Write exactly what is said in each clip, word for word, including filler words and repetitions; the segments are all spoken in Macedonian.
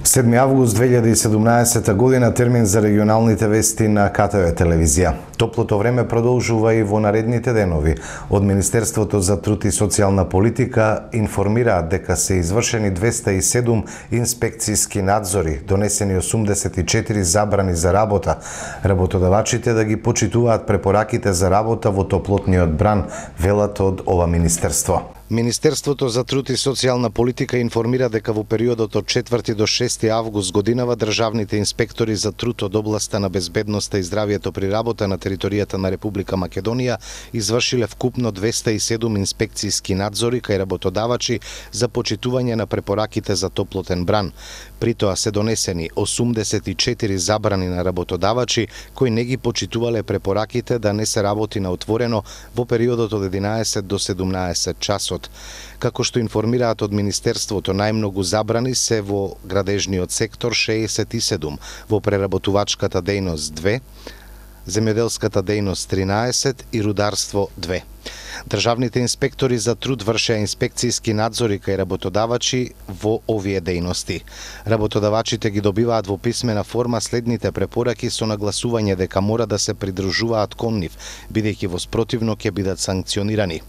седми август две илјади и седумнаесета година, термин за регионалните вести на КТВ телевизија. Топлото време продолжува и во наредните денови. Од Министерството за труд и социјална политика информираат дека се извршени двеста и седум инспекцијски надзори, донесени осумдесет и четири забрани за работа. Работодавачите да ги почитуваат препораките за работа во топлотниот бран, велат од ова министерство. Министерството за труд и социјална политика информира дека во периодот од четврти до шести август годинава државните инспектори за труд од областа на безбедноста и здравјето при работа на територијата на Република Македонија извршиле вкупно двеста и седум инспекцијски надзори кај работодавачи за почитување на препораките за топлотен бран. При тоа се донесени осумдесет и четири забрани на работодавачи кои не ги почитувале препораките да не се работи на отворено во периодот од единаесет до седумнаесет часот. Како што информираат од Министерството, најмногу забрани се во градежниот сектор шеесет и седум, во преработувачката дејност две, земјоделската дејност тринаесет и рударство две. Државните инспектори за труд вршеа инспекцијски надзори кај работодавачи во овие дејности. Работодавачите ги добиваат во писмена форма следните препораки со нагласување дека мора да се придржуваат кон нив, бидејќи во спротивно ќе бидат санкционирани.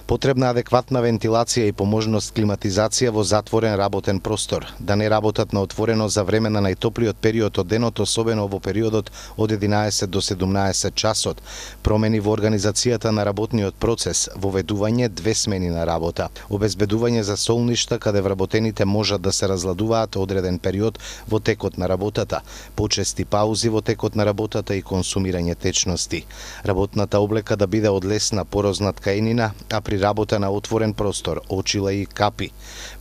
Потребна адекватна вентилација и по можност климатизација во затворен работен простор, да не работат на отворено за време на најтоплиот период од денот, особено во периодот од единаесет до седумнаесет часот, промени во организацијата на работниот процес, воведување две смени на работа, обезбедување за солништа каде вработените можат да се разладуваат одреден период во текот на работата, почести паузи во текот на работата и консумирање течности. Работната облека да биде од лесна порозна ткаенина, а при работа на отворен простор, очила и капи,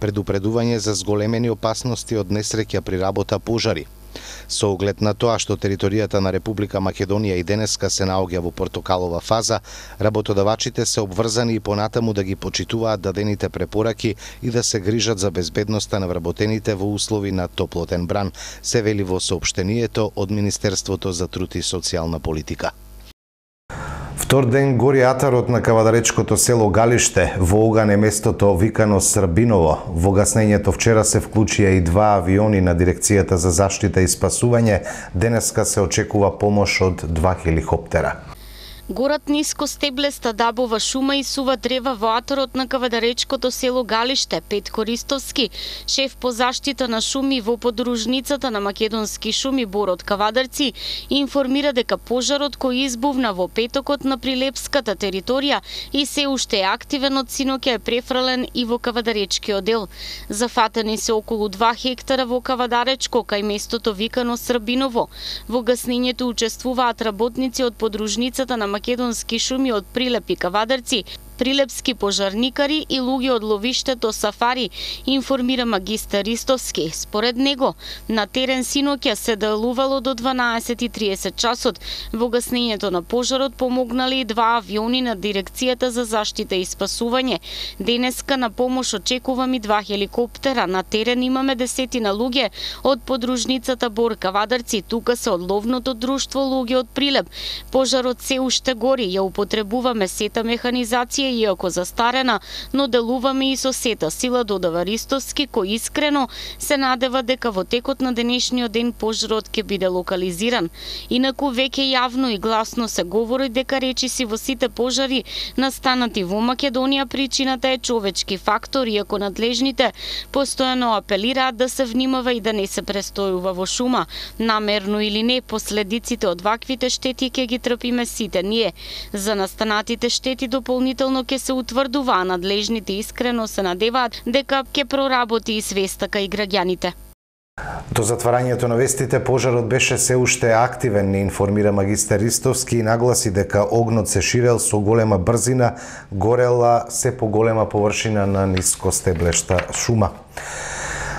предупредување за зголемени опасности од несреќа при работа пожари. Со оглед на тоа што територијата на Република Македонија и денеска се наоѓа во портокалова фаза, работодавачите се обврзани и понатаму да ги почитуваат дадените препораки и да се грижат за безбедноста на вработените во услови на топлотен бран, се вели во соопштението од Министерството за труд и социјална политика. Втор ден гори атарот на кавадаречкото село Галиште, во оган е местото викано Србиново. Во гаснењето вчера се вклучија и два авиони на Дирекцијата за заштита и спасување, денеска се очекува помош од два хеликоптера. Горат ниско стеблеста дабова шума и сува древа во атарот на кавадаречкото село Галиште. Петко Ристовски, шеф по заштита на шуми во подружницата на македонски шуми Борот Кавадарци, информира дека пожарот кој избувна во петокот на прилепската територија и се уште е активен од синоќа е префрлен и во кавадаречкиот дел. Зафатени се околу два хектара во Кавадаречко кај местото викано Србиново. Во гаснењето учествуваат работници од подружницата на македонски шуми од Прилеп и Кавадарци, прилепски пожарникари и луѓе од ловиштето Сафари, информира магистар Ристовски. Според него, на терен синоќа се делувало до дванаесет и триесет часот. Во гаснењето на пожарот помогнале и два авиони на Дирекцијата за заштита и спасување. Денеска на помош очекуваме два хеликоптера. На терен имаме десетина луѓе од подружницата Бор Кавадарци, тука се од ловното друштво луѓе од Прилеп. Пожарот се уште гори, ја употребуваме сета механизација иако застарена, но делуваме и со сета сила, додава Ристовски, кој искрено се надева дека во текот на денешниот ден пожарот ќе биде локализиран. Инаку веќе јавно и гласно се говори дека речиси во сите пожари настанати во Македонија причината е човечки фактор, иако надлежните постојано апелираат да се внимава и да не се престојува во шума. Намерно или не, последиците од ваквите штети ќе ги трпиме сите ние. За настанатите штети дополнително ќе се утврдува, а надлежните искрено се надеваат дека ќе проработи и свеста кај граѓаните. До затварањето на вестите, пожарот беше се уште активен, не информира магистар Ристовски и нагласи дека огнот се ширел со голема брзина, горела се по голема површина на ниско стеблешта шума.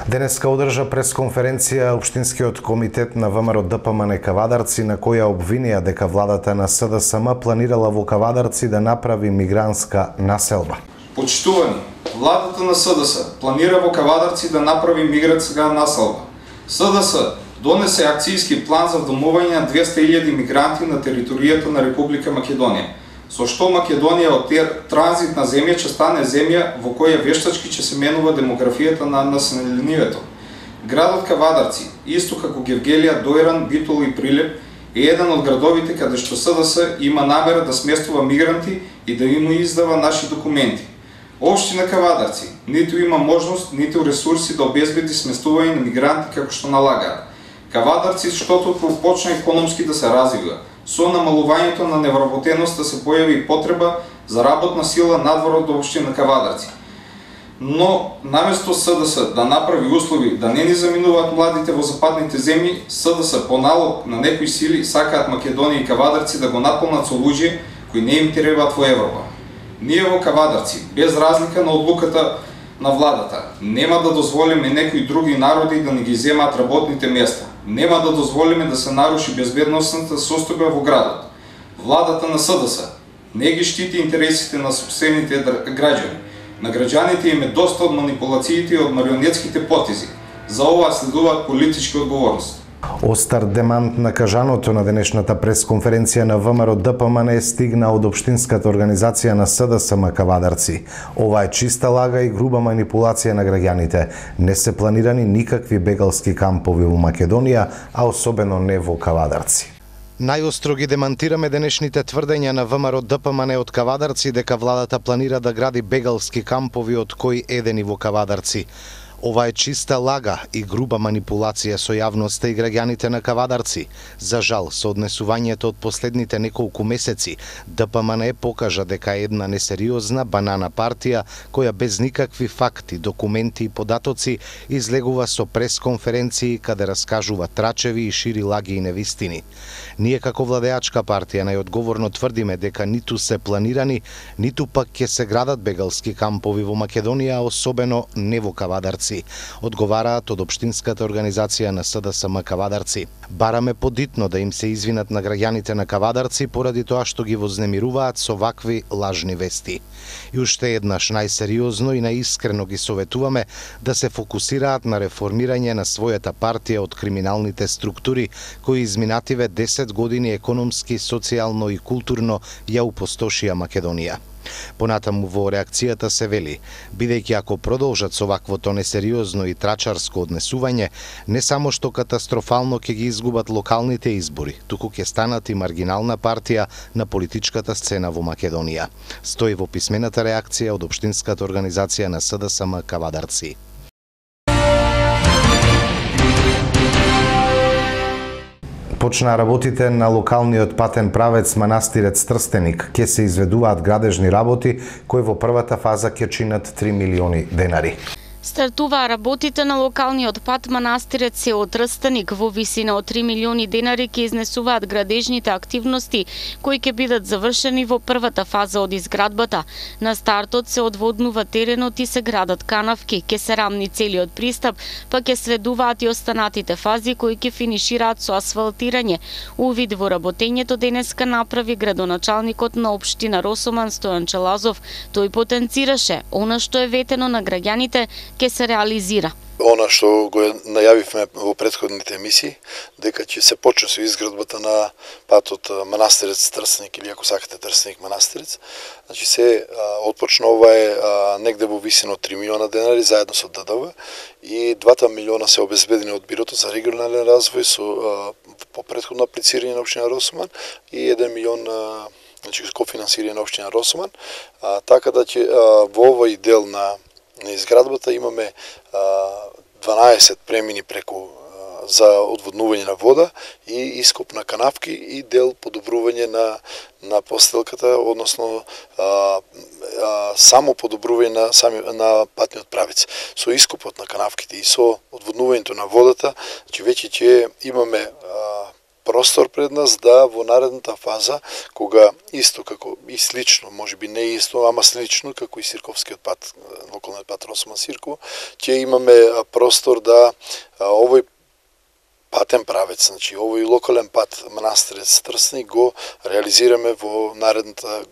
Денеска одржа пресконференција Општинскиот комитет на ВМРО ДПМН Кавадарци, на која обвинија дека владата на СДСМ планирала во Кавадарци да направи мигрантска населба. Почитувани, владата на СДС планира во Кавадарци да направи мигрантска населба. СДС донесе акцијски план за домување на двеста илјади мигранти на територијата на Република Македонија, со што Македонија од транзитна земја ќе стане земја во која вештачки ќе се менува демографијата на населението. Градот Кавадарци, исто како Гевгелија, Дојран, Битола и Прилеп, е еден од градовите каде што СДС има намера да сместува мигранти и да им издава наши документи. Општина Кавадарци ниту има можност, ниту ресурси да обезбеди сместување на мигранти како што налагаат. Кавадарци штото почна економски да се развива. Со намалувањето на невработеноста се појави потреба за работна сила надвор од општина Кавадарци. Но наместо СДС да направи услови да не ни заминуваат младите во западните земји, СДС по налог на некои сили сакаат Македонија и Кавадарци да го наполнат со луѓе кои не им требаат во Европа. Ние во Кавадарци, без разлика на одлуката на владата, нема да дозволиме некои други народи да ни ги земаат работните места. Нема да дозволиме да се наруши безбедносната состојба во градот. Владата на СДС не ги штити интересите на сопствените граѓани. На граѓаните им е доста од манипулациите и од марионетските потези. За ова следуваат политички одговорности. Остар демант на кажаното на денешната пресконференција на ВМРО ДПМН стигна од општинската организација на СДСМ Кавадарци. Ова е чиста лага и груба манипулација на граѓаните. Не се планирани никакви бегалски кампови во Македонија, а особено не во Кавадарци. Најостро ги демантираме денешните тврдења на ВМРО ДПМН од Кавадарци дека владата планира да гради бегалски кампови од кои еден и во Кавадарци. Ова е чиста лага и груба манипулација со јавноста и граѓаните на Кавадарци. За жал, со однесувањето од последните неколку месеци, ДПМН покажа дека е една несериозна банана партија која без никакви факти, документи и податоци излегува со пресконференции каде раскажува трачеви и шири лаги и невистини. Ние како владеачка партија најодговорно тврдиме дека ниту се планирани, ниту пак ќе се градат бегалски кампови во Македонија, особено не во Кавадарци, одговараат од општинската организација на СДСМ Кавадарци. Бараме подитно да им се извинат на граѓаните на Кавадарци поради тоа што ги вознемируваат со вакви лажни вести. И уште еднаш најсериозно и најискрено ги советуваме да се фокусираат на реформирање на својата партија од криминалните структури кои изминативе десет години економски, социјално и културно ја упустошија Македонија. Понатаму во реакцијата се вели, бидејќи ако продолжат со ваквото несериозно и трачарско однесување, не само што катастрофално ќе ги изгубат локалните избори, туку ќе станат и маргинална партија на политичката сцена во Македонија. Стои во писмената реакција од општинската организација на СДСМ Кавадарци. Почнаа работите на локалниот патен правец Манастирец Трстеник. Ке се изведуваат градежни работи кои во првата фаза ќе чинат три милиони денари. Стартуваа работите на локалниот пат Манастирец село Трстеник во висина од три милиони денари ќе изнесуваат градежните активности кои ќе бидат завршени во првата фаза од изградбата. На стартот се одводнува теренот и се градат канавки, ќе се рамни целиот пристап, па ќе следуваат и останатите фази кои ќе финишираат со асфалтирање. Увид во работењето денеска направи градоначалникот на општина Росоман Стојан Челазов. Тој потенцираше она што е ветено на граѓаните ќе се реализира. Она што го најавивме во претходните емисии, дека ќе се почне со изградбата на патот Манастирец Трстеник или ако сакате Трстеник Манастирец. Значи се отпочна ова е негде во висина од три милиона денари заедно со ДДВ и двата милиона се обезбедени од Бирото за регионален развој со по претходно аплицирање на општина Росоман и еден милион значи кофинансирање на општина Росоман, така да ќе во овој дел на на изградбата имаме дванаесет премини преку за одводнување на вода и ископ на канавки и дел подобрување на на постелката, односно а, а, само подобрување на сами на патниот правец. Со ископот на канавките и со одводнувањето на водата, че веќе ќе имаме а, простор пред нас да во наредната фаза, кога исто како и слично, можеби не исто, ама слично како и Сирковскиот пат, локалниот пат Росоман Сирково, ќе имаме простор да овој патен правец, значи овој локален пат Манастирец Трстеник го реализираме во наредната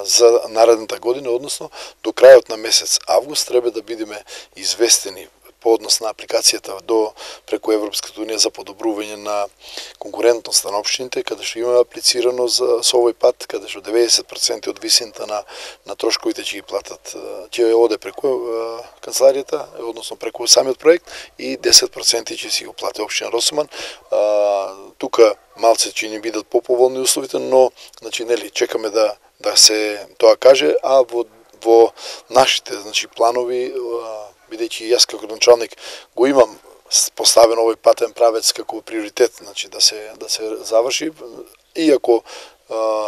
за наредната година, односно до крајот на месец август треба да бидеме известени по однос на апликацијата до преку Европската унија за подобрување на конкурентноста на општините, каде што има аплицирано за со овој пат, каде што деветдесет проценти од висината на на трошковите ќе ги платат, ќе оде преку канцеларијата, односно преку самиот проект, и десет проценти ќе си го плати општина Росоман. Тука малце ќе ни бидат поповолни условите, но значи нели чекаме да да се тоа каже, а во во нашите значи планови, бидејќи јас како началник го имам поставен овој патен правец како приоритет, значи да се да се заврши, иако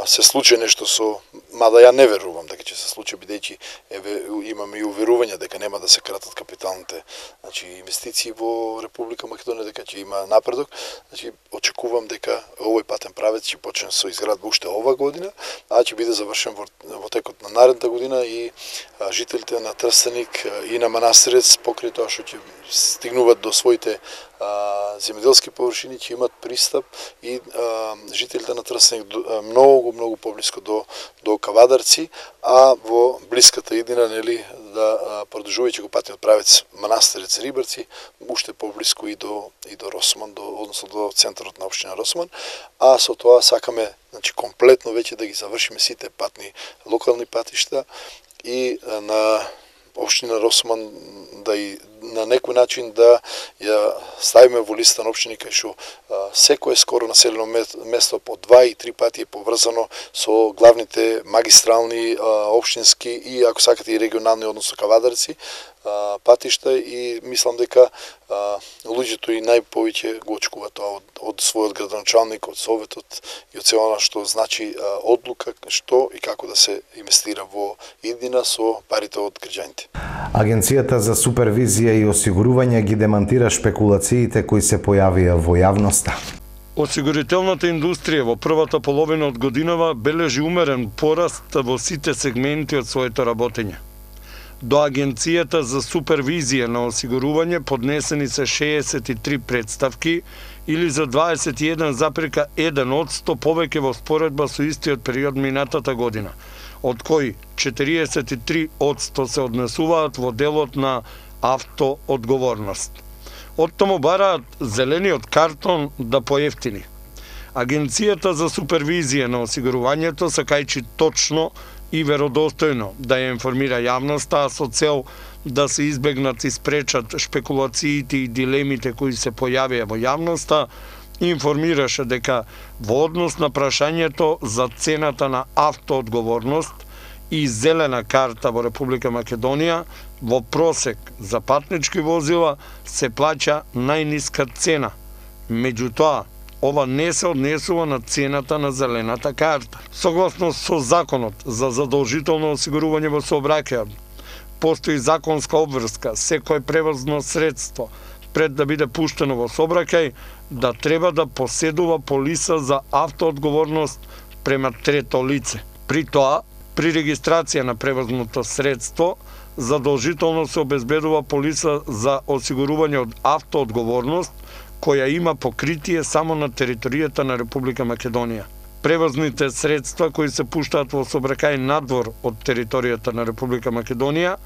се случи нешто со, мада ја не верувам дека ќе се случи, бидејќи еве имаме и уверување дека нема да се кратат капиталните значи инвестиции во Република Македонија, дека ќе има напредок. Значи очекувам дека овој патен правец ќе почне со изградба уште ова година, а ќе биде завршен во, во текот на наредната година и а, жителите на Трстеник и на Манастирец, покрај тоа што ќе стигнуваат до своите а, земјоделски површини, ќе имат пристап и а, жителите на Трстеник многу многу поблиско до до Кавадарци, а во блиската иднина нели да продолжувајќи го патниот правец Манастирец Рибарци, уште поблиско и до и до Росман, до односно до центарот на општина Росман, а со тоа сакаме значи комплетно веќе да ги завршиме сите патни локални патишта и на општина Росман да и на некој начин да ја ставиме во листа на општини кај што секое скоро населено место по два и три пати е поврзано со главните магистрални општински и ако сакате и регионални, односно Кавадарци патишта, и мислам дека луѓето и најповеќе го очекуваат тоа од, од својот градоначалник, од советот и од се она што значи одлука што и како да се инвестира во иднина со парите од граѓаните. Агенцијата за супервизија и осигурување ги демантира шпекулациите кои се појавија во јавноста. Осигурителната индустрија во првата половина од годинава бележи умерен пораст во сите сегменти од своето работење. До Агенцијата за супервизија на осигурување поднесени се шеесет и три претставки или за дваесет и еден запирка еден одсто повеќе во споредба со истиот период минатата година, од кои четириесет и три одсто се однесуваат во делот на автоодговорност. Од тому бараат зелениот картон да поевтини. Агенцијата за супервизија на осигурувањето сакајќи точно и веродостојно да ја информира јавноста, а со цел да се избегнат и спречат шпекулациите и дилемите кои се појавија во јавноста, информираше дека во однос на прашањето за цената на автоодговорност и зелена карта во Република Македонија, во просек за патнички возила се плаќа најниска цена. Меѓутоа, ова не се однесува на цената на зелената карта. Согласно со Законот за задолжително осигурување во сообраќајот, постои законска обврска секое превозно средство пред да биде пуштено во сообраќај да треба да поседува полиса за автоодговорност према трето лице. При тоа, при регистрација на превозното средство, задолжително се обезбедува полиса за осигурување од автоодговорност, која има покритие само на територијата на Република Македонија. Превозните средства кои се пуштаат во сообраќај надвор од територијата на Република Македонија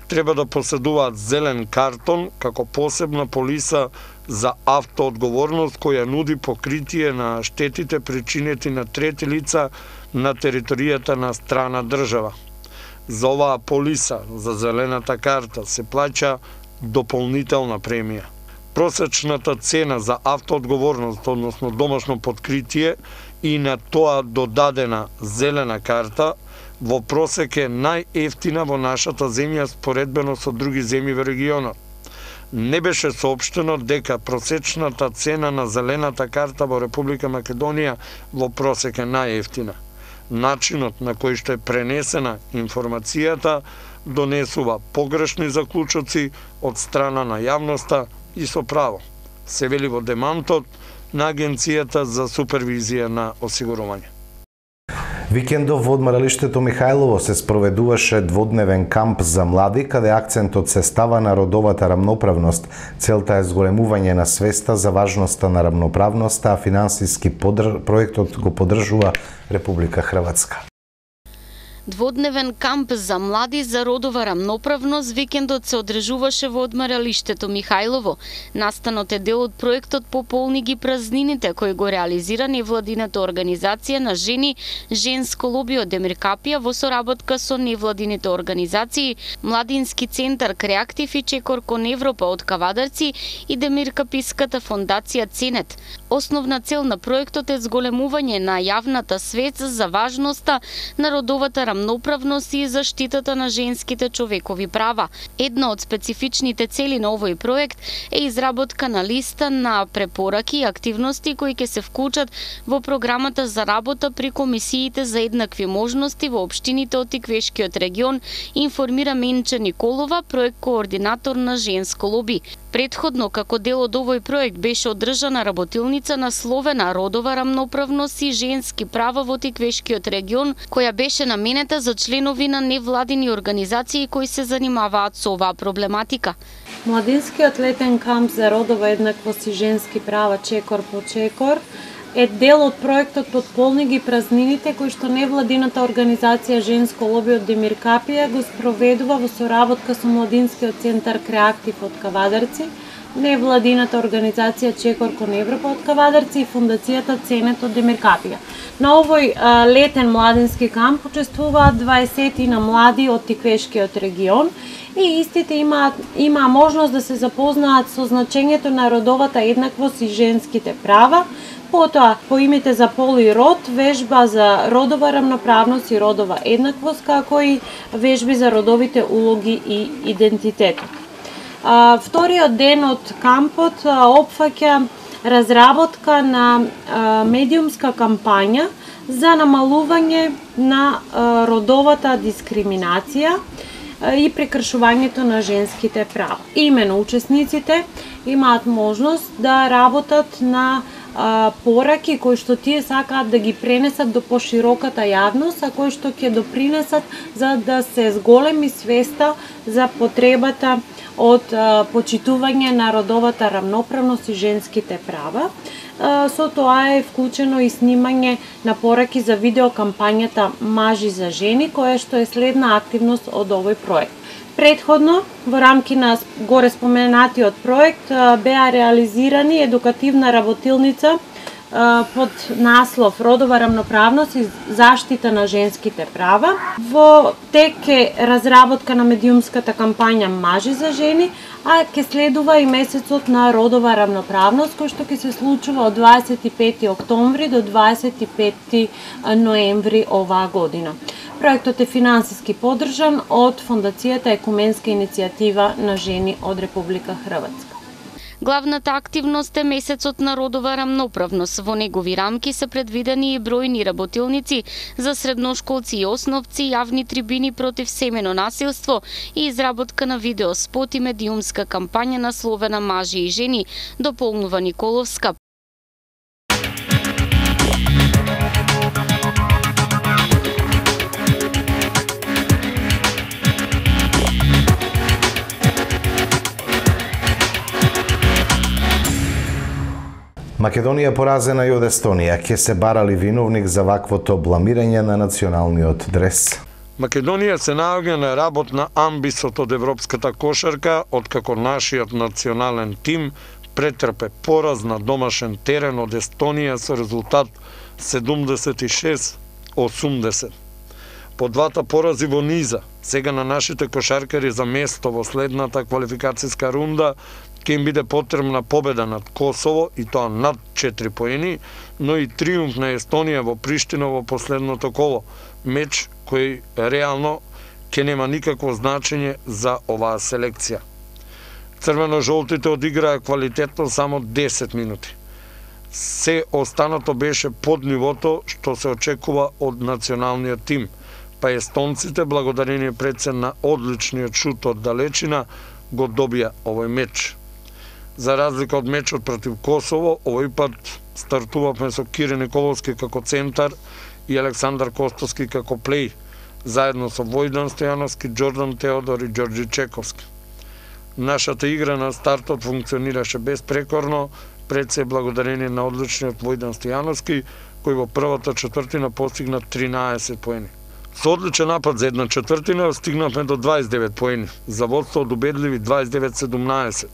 треба да поседуваат зелен картон како посебна полиса за автоодговорност која нуди покритие на штетите причинети на трети лица на територијата на страна држава. За оваа полиса за зелената карта се плаќа дополнителна премија. Просечната цена за автоодговорност, односно домашно подкритие и на тоа додадена зелена карта, во просек е најефтина во нашата земја споредбено со други земји во регионот. Не беше соопштено дека просечната цена на зелената карта во Република Македонија во просек е најефтина. Начинот на кој што е пренесена информацијата донесува погрешни заклучоци од страна на јавноста и со право, се вели во демантот на Агенцијата за супервизија на осигурување. Викендов во одморалиштето Михајлово се спроведуваше дводневен камп за млади, каде акцентот се става на родовата рамноправност. Целта е зголемување на свеста за важноста на рамноправноста, а финансиски подр... проектот го поддржува Република Хрватска. Дводневен камп за млади за родова рамноправност викендот се одржуваше во одмаралиштето Михајлово. Настанот е дел од проектот Пополни ги празнините, кој го реализира невладината организација на жени Женско лоби од Демир Капија во соработка со невладините организации Младински центар Креактив и Чекор кон Европа од Кавадарци и Демир Каписката фондација Ценет. Основна цел на проектот е зголемување на јавната свест за важноста на родовата рамноправност и заштитата на женските човекови права. Една од специфичните цели на овој проект е изработка на листа на препораки и активности кои ќе се вклучат во програмата за работа при комисиите за еднакви можности во општините од Тиквешкиот регион, информира Менче Николова, проект координатор на Женско лоби. Предходно, како дел од овој проект, беше одржана работилница насловена Родова рамноправност и женски права во Тиквешкиот регион, која беше наменета за членови на невладини организации кои се занимаваат со оваа проблематика. Младинскиот летен камп за родова еднаквост и женски права Чекор по Чекор е дел од проектот Пополни ги празнините, кој што невладината организација Женско лоби од Демир Капија го спроведува во соработка со Младинскиот центар Креактив од Кавадарци, невладината организација Чекор кон Европа од Кавадарци и фондацијата Ценет од Демир Капија. На овој а, летен младински камп учествуваат дваесет на млади од Тиквешкиот регион и истите имаат има можност да се запознаат со значењето на родовата еднаквост и женските права. Потоа, по имите за пол и род, вежба за родова рамноправност и родова еднаквост, како и вежби за родовите улоги и идентитетот. А, вториот ден од кампот а, опфаќа разработка на а, медиумска кампања за намалување на а, родовата дискриминација а, и прекршувањето на женските права. Имено учесниците имаат можност да работат на пораки кои што тие сакаат да ги пренесат до пошироката јавност, а кои што ќе допринесат за да се зголеми свеста за потребата од а, почитување на родовата рамноправност и женските права. А, со тоа е вклучено и снимање на пораки за видеокампањата Мажи за жени, која што е следна активност од овој проект. Предходно, во рамки на горе споменатиот проект, беа реализирани едукативна работилница под наслов Родова рамноправност и заштита на женските права. Во тек е разработка на медиумската кампања Мажи за жени, а ќе следува и месецот на родова рамноправност, кој што ќе се случува од дваесет и пети октомври до дваесет и пети ноември оваа година. Проектот е финансиски поддржан од Фондацијата Екуменска иницијатива на жени од Република Хрватска. Главната активност е месецот на родова рамноправност. Во негови рамки се предвидени и бројни работилници за средношколци и основци, јавни трибини против семено насилство и изработка на видеоспот и медиумска кампања насловена Мажи и жени, дополнува Николовска. Македонија поразена и од Естонија. Ќе се барали виновник за ваквото бламирање на националниот дрес? Македонија се наоѓа на работна амбисот од европската кошарка, откако нашиот национален тим претрпе пораз на домашен терен од Естонија со резултат седумдесет и шест осумдесет. По двата порази во низа, сега на нашите кошаркари за место во следната квалификацијска рунда ќе им биде потребна победа над Косово и тоа над четири поени, но и триумф на Естонија во Приштина во последното коло, меч кој реално ќе нема никакво значење за оваа селекција. Црвено-жолтите одиграа квалитетно само десет минути. Се останато беше под нивото што се очекува од националниот тим, па естонците, благодарение предсен на одличниот шут од далечина, го добија овој меч. За разлика од мечот против Косово, овој пат стартувавме со Кире Николовски како центар и Александар Костовски како плей, заедно со Војдан Стојановски, Џордан Теодор и Ѓорѓи Чековски. Нашата игра на стартот функционираше безпрекорно, пред се благодарение на одличниот Војдан Стојановски, кој во првата четвртина постигна тринаесет поени. Со одличен напад за една четвртина стигнавме до дваесет и девет поени. За водство од убедливи дваесет и девет седумнаесет.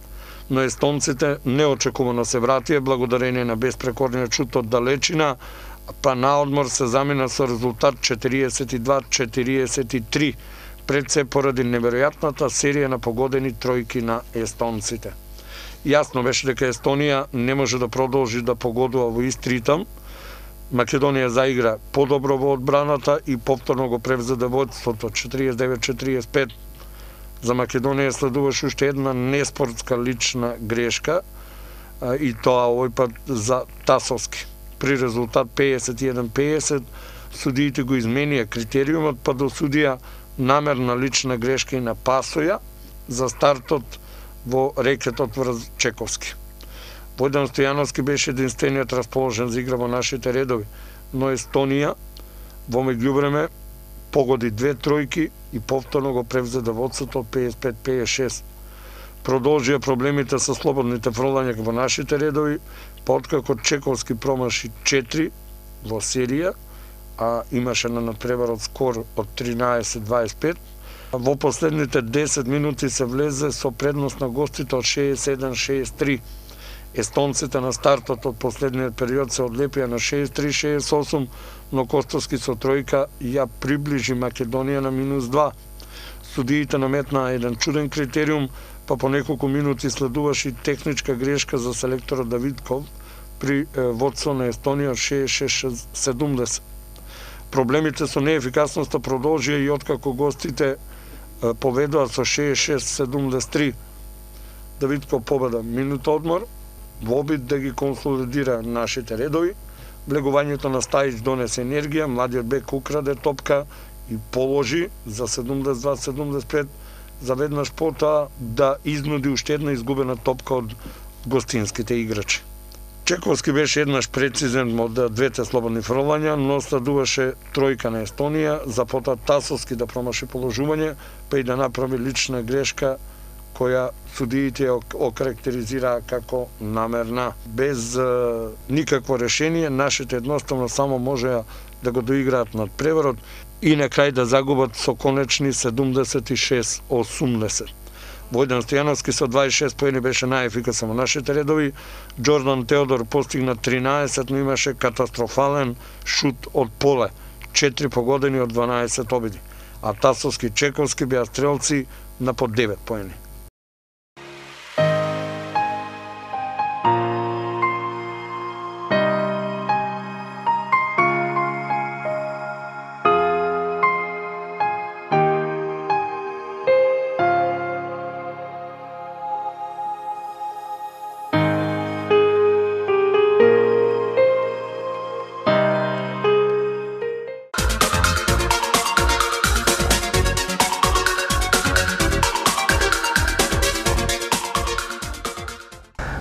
Но естонците неочекувано се вратија благодарение на безпрекорниот шут од далечина, па на одмор се замина со резултат четириесет и два четириесет и три, пред се поради неверојатната серија на погодени тројки на естонците. Јасно беше дека Естонија не може да продолжи да погодува во ист ритам. Македонија заигра подобро во одбраната и повторно го превзеде водството четириесет и девет четириесет и пет. За Македонија следуваше уште една неспортска лична грешка, и тоа овој пат за Тасовски. При резултат педесет и еден педесет судиите го изменија критериумот, па досудија намерна лична грешка и на Пасоја за стартот во рекетот врз Чековски. Војдан Стојановски беше единствениот расположен за игра во нашите редови, но Естонија во меѓувреме погоди две тројки и повторно го превзеде водството од педесет и пет педесет и шест. Продолжија проблемите со слободните фрлања во нашите редови, па откако Чековски промаши четири во серија, а имаше на надпревар од скор од тринаесет дваесет и пет, во последните десет минути се влезе со предност на гостите од шеесет и седум шеесет и три. Естонците на стартот од последниот период се одлепија на шеесет и три шеесет и осум, но Костовски со тројка ја приближи Македонија на минус два. Судиите наметнаа еден чуден критериум, па по неколку минути следуваше и техничка грешка за селекторот Давидков при водство на Естонија шеесет и шест седумдесет. Проблемите со неефикасноста продолжија и откако гостите поведоа со шеесет и шест седумдесет и три. Давидков победа минут одмор, во обид да ги консолидира нашите редови. Влегувањето на Стајич донесе енергија, младиот бек украде топка и положи за седумдесет и два седумдесет и пет, за веднаш потоа да изнуди уште една изгубена топка од гостинските играчи. Чековски беше еднаш прецизен од двете слободни фрлања, но следуваше тројка на Естонија, за потоа Тасовски да промаши положување, па и да направи лична грешка која судиите окарактеризираа како намерна. Без е, никакво решение, нашите едноставно само можеа да го доиграат над преварот и на крај да загубат со конечни седумдесет и шест осумдесет. Војдан Стојановски со дваесет и шест поени беше најефикасен во нашите редови. Џордан Теодор постигна тринаесет, но имаше катастрофален шут од поле, четири погодени од дванаесет обиди, а Тасовски и Чековски беа стрелци на по девет поени.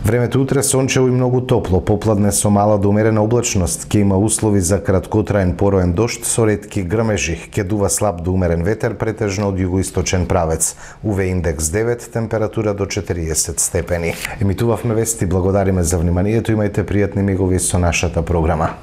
Времето утре сончево и многу топло, попладне со мала до умерена облачност, ќе има услови за краткотраен пороен дожд со ретки грмежи, ќе дува слаб до умерен ветер претежно од југоисточен правец. У В индекс девет, температура до четириесет степени. Емитувавме вести, благодариме за вниманието, имајте пријатни мигови со нашата програма.